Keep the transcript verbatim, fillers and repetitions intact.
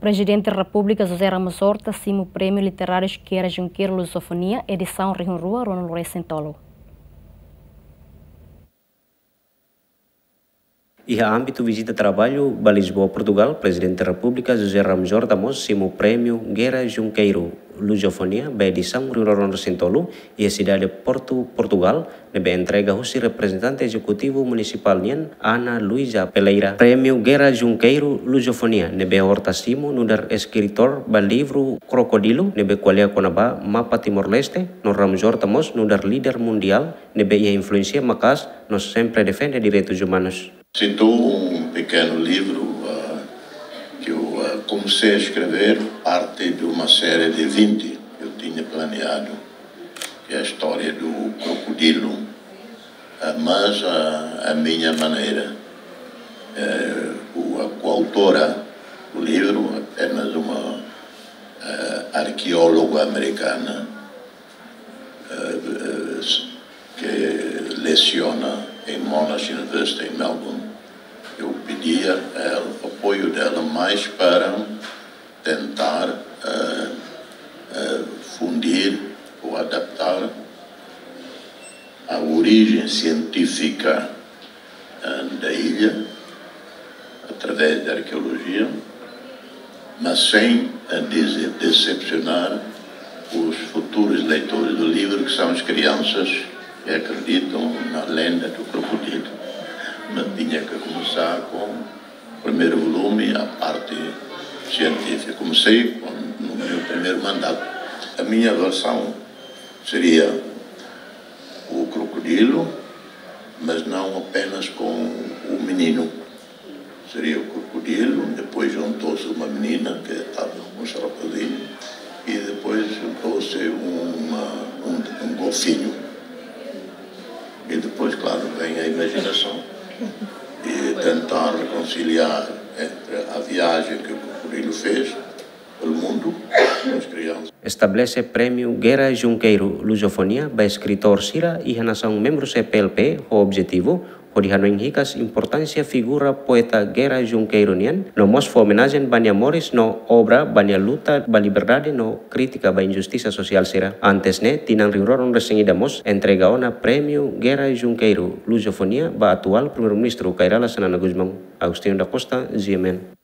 Prezidente Repúblika José Ramos Horta simu Prémiu Literáriu Guerra Junqueiro Lusofonia, edisaun rihun rua ruanulu-resin-tolu. Iha ámbitu vizita traballu ba Lisboa, Portugal, Prezidente Repúblika José Ramos Horta mós simu Prémiu Guerra Junqueiro Lusofonia ba edisaun rihun rua ruanulu-resin-tolu, iha sidade Porto, Portugal, ne'ebé entrega husi reprezentante ezekutivu munisipál nian, Ana Luísa Peleira. Prémiu Guerra Junqueiro Lusofonia ne'ebé Horta simu nu'udar eskritór ba livru Crocodilo, ne'ebé ko'alia kona-ba mapa Timor-Leste, no Ramos Horta mós nu'udar líder mundiál ne'ebé iha influénsia maka'as no sempre defende direitus umanus. Citou um pequeno livro, ah, que eu, ah, comecei a escrever parte de uma série de vinte que eu tinha planeado, que é a história do crocodilo, ah, mas a, a minha maneira. Eh, o, a coautora do livro, apenas uma, eh, arqueóloga americana, eh, eh, que leciona em Monash University em Melbourne. Eu pedia a ela, apoio dela mais para tentar, eh, eh, fundir ou adaptar a origem científica, eh, da ilha, através da arqueologia, mas sem, eh, dese-, decepcionar os futuros leitores do livro, que são as crianças que acreditam na lenda do crocodilo. Mas tinha que começar com o primeiro volume, a parte científica. Comecei com, no meu primeiro mandato. A minha versão seria o crocodilo, mas não apenas com o menino. Seria o crocodilo, depois juntou-se uma menina que estava com um rapazinho, e depois juntou-se uma, um, um golfinho. E depois, claro, vem a imaginação. E tentar reconciliar entre a viagem que o crocodilo fez pelo mundo, as crianças. Estabelese Prémiu Guerra Junqueiro Lusofonia ba eskritór sira iha nasaun membru C P L P ho objetivu hodi hanoin hikas importánsia figura poeta Guerra Junqueiro nian, no mós fó omenajen ba nia moris no obra ba nia luta ba liberdade no krítika ba injustisa sosiál sira. Antes ne'e, tinan rihun rua ruanulu-resin-ida mós entrega ona Prémiu Guerra Junqueiro Lusofonia ba atuál Primeiru-Ministru Kay Rala Xanana Gusmão. Agostinho da Costa, G M N.